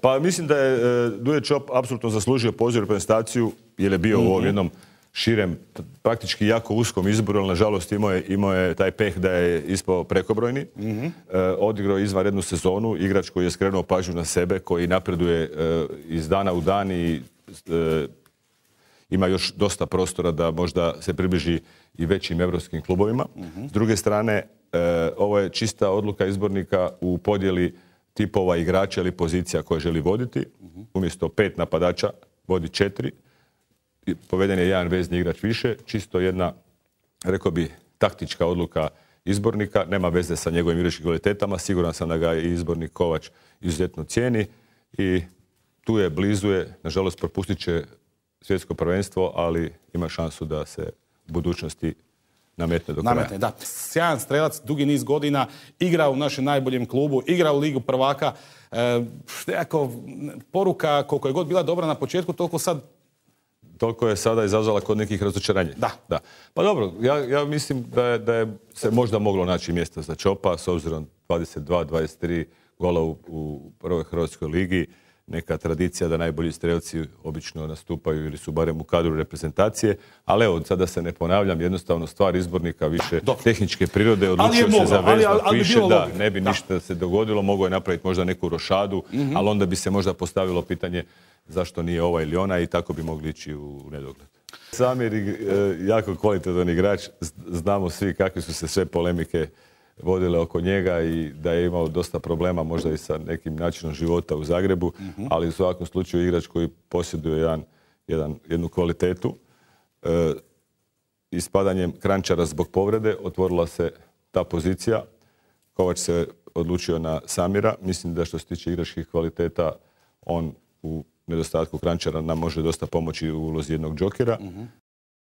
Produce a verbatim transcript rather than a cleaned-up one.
Pa mislim da je uh, Duje Čop apsolutno zaslužio poziv u reprezentaciju jer je bio mm-hmm. u ovom jednom širem, praktički jako uskom izboru, ali nažalost imao je, imao je taj peh da je ispao prekobrojni. Mm-hmm. Uh, odigrao izvanrednu sezonu, igrač koji je skrenuo pažnju na sebe, koji napreduje uh, iz dana u dan i uh, ima još dosta prostora da možda se približi i većim evropskim klubovima. Mm-hmm. S druge strane, uh, ovo je čista odluka izbornika u podjeli tipova igrača ili pozicija koje želi voditi. Mm-hmm. Umjesto pet napadača vodi četiri. Poveden je jedan vezni igrač više. Čisto jedna, rekao bi, taktička odluka izbornika. Nema veze sa njegovim igračkim kvalitetama. Siguran sam da ga i izbornik Kovač izuzetno cijeni. I tu je, blizu je. Nažalost, propustit će svjetsko prvenstvo, ali ima šansu da se u budućnosti nametne do kraja. Nametne, da. Sjajan strelac, dugi niz godina, igra u našem najboljem klubu, igra u Ligu prvaka. E, nekako, poruka koliko je god bila dobra na početku, toliko sad... Toliko je sada izazvala kod nekih razočaranja. Da. da. Pa dobro, ja, ja mislim da je, da je se možda moglo naći mjesta za Čopa, s obzirom dvadeset dva dvadeset tri gola u, u prvoj Hrvatskoj ligi. Neka tradicija da najbolji strelci obično nastupaju ili su barem u kadru reprezentacije. Ali evo, sada se ne ponavljam, jednostavno stvar izbornika više da, tehničke prirode, odlučio se za vezno više, da, ne bi da. ništa se dogodilo, mogao je napraviti možda neku rošadu, mm-hmm. ali onda bi se možda postavilo pitanje zašto nije ova ili ona i tako bi mogli ići u nedogled. Samir je jako kvalitetan igrač, znamo svi kakve su se sve polemike vodile oko njega i da je imao dosta problema možda i sa nekim načinom života u Zagrebu, mm-hmm. ali u svakom slučaju igrač koji posjeduje jedan, jedan, jednu kvalitetu. E, ispadanjem Kranjčara zbog povrede otvorila se ta pozicija. Kovač se odlučio na Samira. Mislim da što se tiče igračkih kvaliteta, on u nedostatku Kranjčara nam može dosta pomoći u ulozi jednog džokera. Mm-hmm.